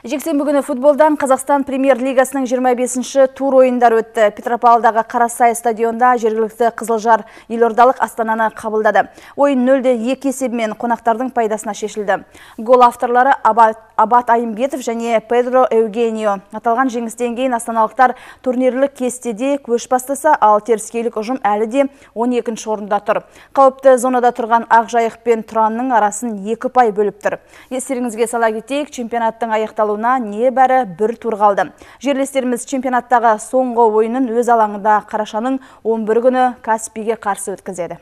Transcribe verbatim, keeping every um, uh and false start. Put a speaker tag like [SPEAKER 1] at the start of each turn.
[SPEAKER 1] Жексенбі күні футболдан Қазақстан премьер-лигасының жиырма бесінші тур ойындар өтті. Петропавлдағы Қарасай стадионда жергілікті Қызылжар елордалық Астананы қабылдады. Ойын нөл-де екі есебімен қонақтардың пайдасына шешілді. Гол авторлары Абат, Абат Айымбетов және Педро Эугенио. Аталған жеңістен кейін астаналықтар турнирлік кестеде көш бастаса, ал теріскейлік ұжым әлі де он екінші орында тұр. Қауіпті зонада тұрған Ақжайық пен Тұранның арасын екі пай бөліп тұр. Естеріңізге сала кетейік, чемпионаттың аяқталуына не бәрі бір тур қалды. Жерлестеріміз чемпионаттағы соңғы ойынын өз алаңында қарашаның он бірі күні Каспийге қарсы өткізеді.